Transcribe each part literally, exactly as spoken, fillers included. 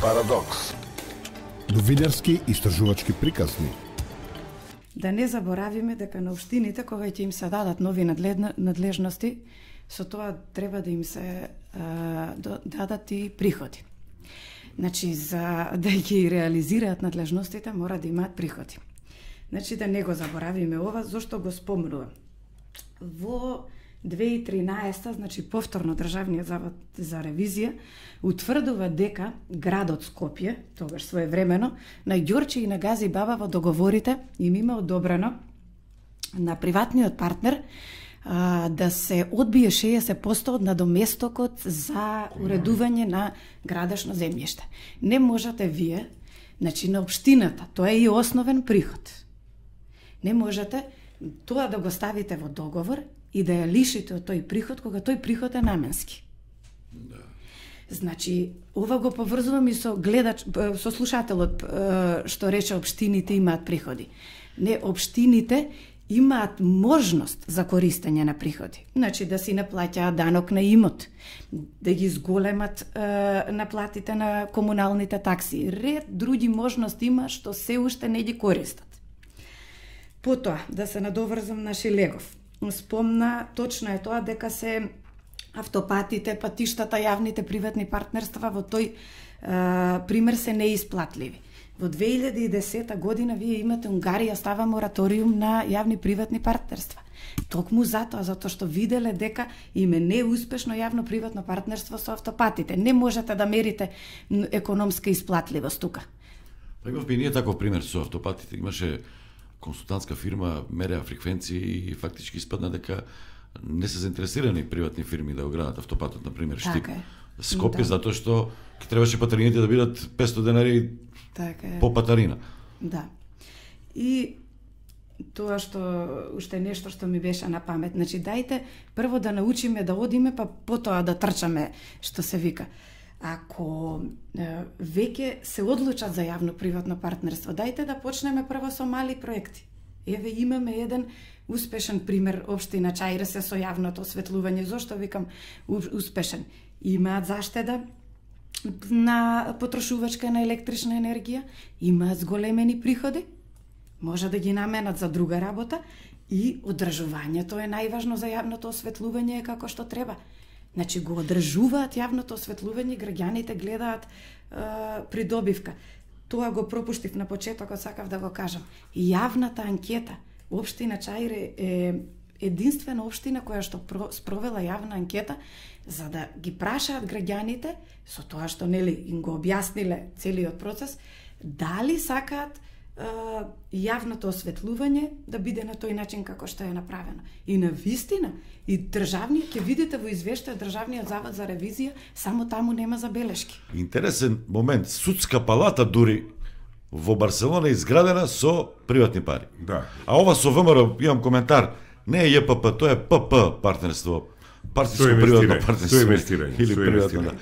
Парадокс. Новинарски истражувачки приказни. Да не заборавиме дека на општините, кога ќе им се дадат нови надлежности, со тоа треба да им се а, дадат и приходи. Значи, за да ги реализираат надлежностите, мора да имаат приходи. Значи, да не го заборавиме ова, зашто го спомнувам. Во две илјади и тринаесета, значи повторно Државниот завод за ревизија утврдува дека градот Скопје, тогаш своевремено, на Ѓорче и на Гази Баба во договорите им има одобрено на приватниот партнер а, да се одбие шеесет проценти од надоместокот за уредување на градешно земјиште. Не можете вие, значи на општината, тоа е и основен приход. Не можете тоа да го ставите во договор и да ја лишите од тој приход, кога тој приход е наменски. Да. Значи, ова го поврзувам и со гледач, со слушателот, што рече општините имаат приходи. Не, општините имаат можност за користење на приходи. Значи, да си наплаќаат данок на имот, да ги зголемат е, наплатите на комуналните такси. Ред други можности има што се уште не ги користат. Потоа, да се надоврзам на Шилегов. Спомна, точно е тоа дека се автопатите, патиштата, јавните приватни партнерства во тој е, пример се неисплатливи. Во две илјади и десета година вие имате Унгарија става мораториум на јавни приватни партнерства. Токму затоа, затоа што виделе дека им е неуспешно јавно приватно партнерство со автопатите. Не можете да мерите економска исплатливост тука. Па имавме и ние таков пример со автопатите. Имаше консултантска фирма, мереа фреквенции и фактички испадна дека не се заинтересирани приватни фирми да го градат автопатот, например, Штип. Така Скопје, да. затоа што ќе требаше патарините да бидат петстотини денари така е. по патарина. Да. И тоа што уште нешто што ми беше на памет. Значи, дајте прво да научиме да одиме, па потоа да трчаме, што се вика. Ако е, веќе се одлучат за јавно-приватно партнерство, дајте да почнеме прво со мали проекти. Еве имаме еден успешен пример, општина Чаира се со јавното осветлување. Зошто викам успешен? Имаат заштеда на потрошувачка на електрична енергија, имаат зголемени приходи, може да ги наменат за друга работа и одржувањето е најважно за јавното осветлување е како што треба. Значи го одржуваат јавното осветлување, граѓаните гледаат е, придобивка. Тоа го пропуштив на почетокот, сакав да го кажам. Јавната анкета, општина Чаира е единствена општина која што спровела јавна анкета за да ги прашаат граѓаните со тоа што нели им го објасниле целиот процес, дали сакаат е, јавното осветлување да биде на тој начин како што е направено. И на вистина, и државниот, ќе видите во извештај Државниот завод за ревизија, само таму нема забелешки. Интересен момент, судска палата дури во Барселона изградена со приватни пари. Да. А ова со ВМРО, имам коментар, не е Ј П П, тоа е П П партнерство. Партиско приватно партнерство. Со инвестирање. Или приватно, да.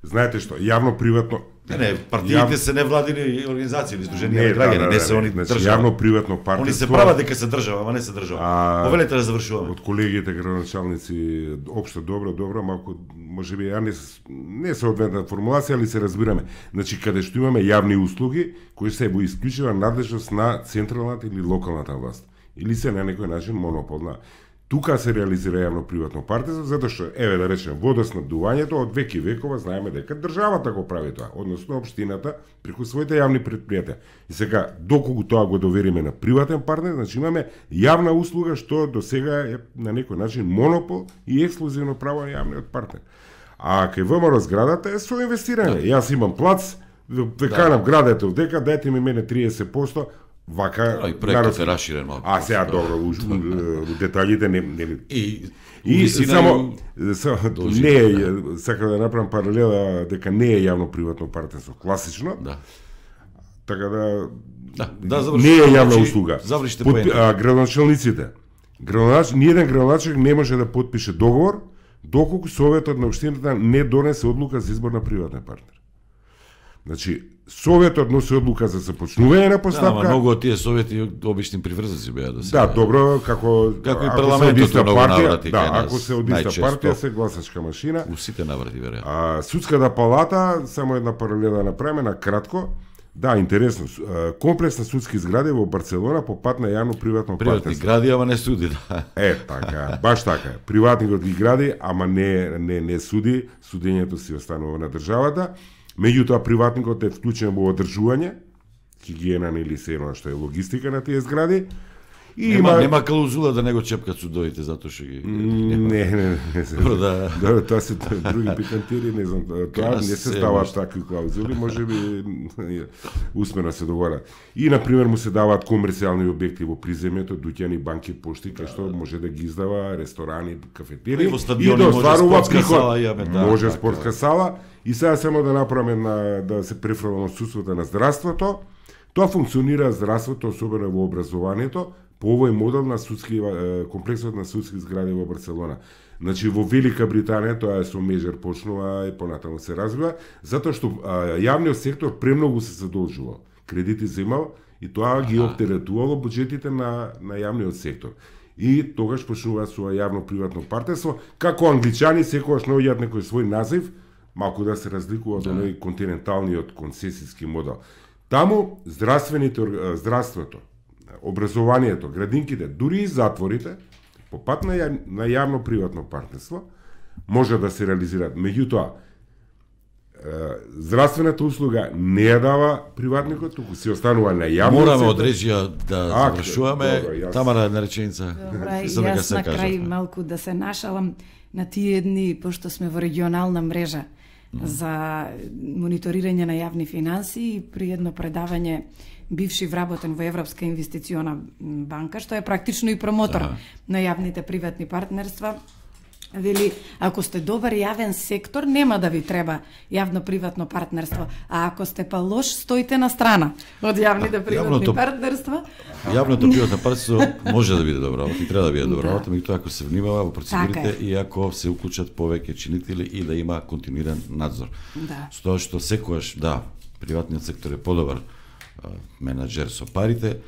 Знаете што, јавно-приватно... Не, не, партиите јав... се невладини организации или сдруженија на граѓани, да, да, не се они значи, држава. Јавно-приватно партнерство... Они се прават дека се држава, ама не се држава. А... Повелете да завршуваме. Од колегите градоначалници, општо добро, добро, малку, можеби, ја не, не се одветна формулација, али се разбираме. Значи, каде што имаме јавни услуги, кои се во исклучива надлежност на централната или локалната власт. Или се на некој начин монополна. Тука се реализира јавно-приватно партнерство, затоа што, еве да речем, водоснабдувањето од веки векова знаеме дека државата го прави тоа, односно општината преку своите јавни претпријатија. И сега, доколку тоа го довериме на приватен партнер, значи имаме јавна услуга што до сега е на некој начин монопол и ексклузивно право на јавниот партнер. А кај ВМРО зградата е со инвестирање. Јас имам плац, ве канам градете дека дайте ми мене триесет проценти. Вака и проектот е раширен малку. А сега добро, у деталите не не и и само не е, сакам да направам паралела дека не е јавно-приватно партнерство класично. Да. Така да да, да не е јавна услуга. Завршите Под, а, градоначалниците. Градонач, ниеден градоначалник не може да потпише договор доколку советот на општината не донесе одлука за избор на приватен партнер. Значи, Советот носи одлука за започнување на постапка. Да, ама многу од тие совети обични приврзаци беа до сега. Да, добро, како како и парламентот многу наврати да, кај нас. ако се од иста партија, се гласачка машина. У сите наврати веројатно. А судската палата, само една паралела направиме на кратко. Да, интересно. Комплексна судски згради во Барселона по пат на јавно-приватно партнерство. Приватни гради, ама не суди, да. Е, така, баш така. Приватникот ги гради, ама не не не суди, судењето си останува на државата. Меѓутоа приватникот е вклучен во одржување, хигиена или се едно што е логистика на тие згради. И нема, има нема клаузула да не го чепкат судовите затоа што ги не не не, не се. Добро, да. Да, тоа се други пикантири, не знам, тоа не се ставаат такви клаузули, можеби усмено се договара. И на пример му се даваат комерцијални објекти во приземјето, дуќани, банки, пошти, кај што може да ги издава ресторани, кафетери и да остварува приход. Може спортска сала. И сега само да направиме на да се префрлам судството на здравството. Тоа функционира здравството, особено во образованието, по овој модел на судски комплексот на судски згради во Барселона. Значи во Велика Британија тоа е со межер почнува и понатаму се развива, затоа што а, јавниот сектор премногу се задолжувал, кредити земал и тоа ги оптеретувало буџетите на на јавниот сектор. И тогаш почнува со јавно-приватно партнерство, како англичани секогаш наоѓаат некој свој назив, малку да се разликува од оној континенталниот концесиски модел. Таму здравствените здравството, образованието, градинките, дури и затворите, по пат на, ја, на јавно-приватно партнерство, може да се реализираат. Меѓутоа, здравствената услуга не ја дава приватникот, туку се останува на јавно. Мораме од режија да завршуваме. Тамара, една реченица. Добра, јас на крај малку да се нашалам на тие дни, пошто сме во регионална мрежа за мониторирање на јавни финанси и при едно предавање бивши вработен во Европска инвестициона банка, што е практично и промотор ага. на јавните приватни партнерства. Вели, ако сте добар јавен сектор, нема да ви треба јавно-приватно партнерство, а ако сте па лош, стоите на страна од јавните приватни јавното, партнерства. Јавното приватно партнерство може да биде добро, и треба да биде добро, да. меѓутоа ако се внимава во процедурите така и ако се уклучат повеќе чинители и да има континуиран надзор. Да. Со тоа што секогаш, да, приватниот сектор е подобар менаџер со парите,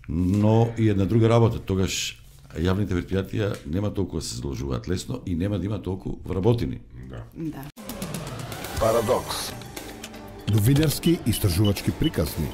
но и една друга работа, тогаш јавните предпријатија нема толку да се задолжуваат лесно и нема да има толку вработени. Да. Да. Парадокс. Новинарски истражувачки приказни.